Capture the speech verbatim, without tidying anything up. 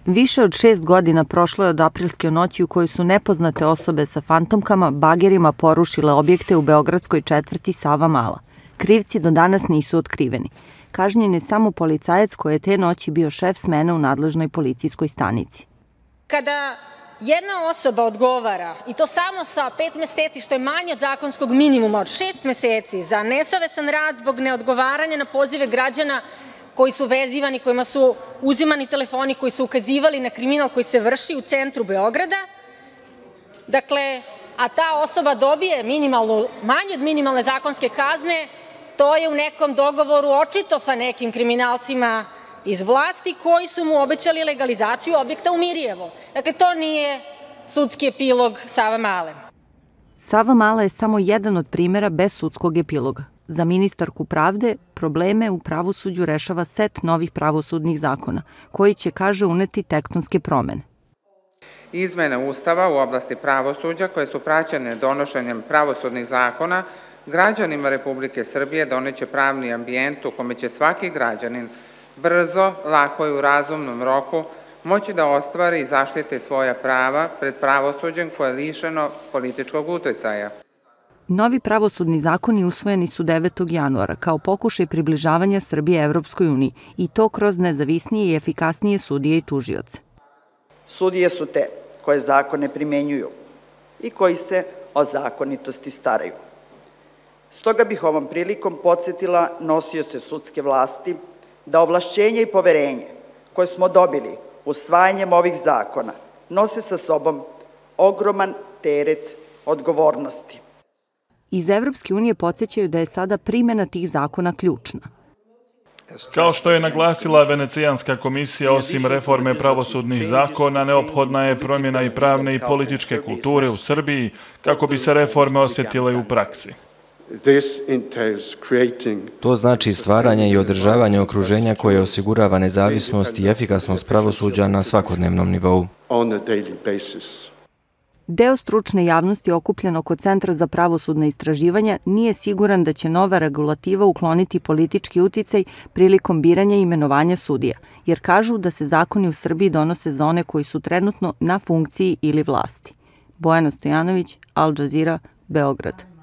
Više od šest godina prošlo je od aprilske noći u kojoj su nepoznate osobe sa fantomkama bagerima porušile objekte u beogradskoj četvrti Savamala. Krivci do danas nisu otkriveni. Kažnjen je samo policajac koji je te noći bio šef smene u nadležnoj policijskoj stanici. Kada jedna osoba odgovara, i to samo sa pet meseci, što je manje od zakonskog minimuma, od šest meseci, za nesavesan rad zbog neodgovaranja na pozive građana koji su vezivani, kojima su uzimani telefoni, koji su ukazivali na kriminal koji se vrši u centru Beograda, dakle, a ta osoba dobije minimalnu, manje od minimalne zakonske kazne, to je u nekom dogovoru očito sa nekim kriminalcima iz vlasti koji su mu obećali legalizaciju objekta u Mirjevo. Dakle, to nije sudski epilog Savamale. Savamala je samo jedan od primera bez sudskog epiloga. Za ministarku pravde probleme u pravosuđu rešava set novih pravosudnih zakona, koji će, kaže, uneti tektonske promene. Izmene Ustava u oblasti pravosuđa koje su praćene donošenjem pravosudnih zakona građanima Republike Srbije doneće pravni ambijent u kome će svaki građanin brzo, lako i u razumnom roku moći da ostvari i zaštite svoja prava pred pravosuđem koje je lišeno političkog uticaja. Novi pravosudni zakoni usvojeni su devetog januara kao pokušaj približavanja Srbije Evropskoj uniji i to kroz nezavisnije i efikasnije sudije i tužioce. Sudije su te koje zakone primenjuju i koji se o zakonitosti staraju. Stoga bih ovom prilikom podsjetila nosioce sudske vlasti da ovlašćenje i poverenje koje smo dobili usvajanjem ovih zakona nose sa sobom ogroman teret odgovornosti. Iz Evropske unije podsjećaju da je sada primjena tih zakona ključna. Kao što je naglasila Venecijanska komisija, osim reforme pravosudnih zakona, neophodna je promjena i pravne i političke kulture u Srbiji kako bi se reforme osjetile u praksi. To znači stvaranje i održavanje okruženja koje osigurava nezavisnost i efikasnost pravosuđa na svakodnevnom nivou. Deo stručne javnosti okupljen oko Centra za pravosudne istraživanja nije siguran da će nova regulativa ukloniti politički uticaj prilikom biranja i imenovanja sudija, jer kažu da se zakoni u Srbiji donose za one koji su trenutno na funkciji ili vlasti. Bojana Stojanović, Al Jazeera, Beograd.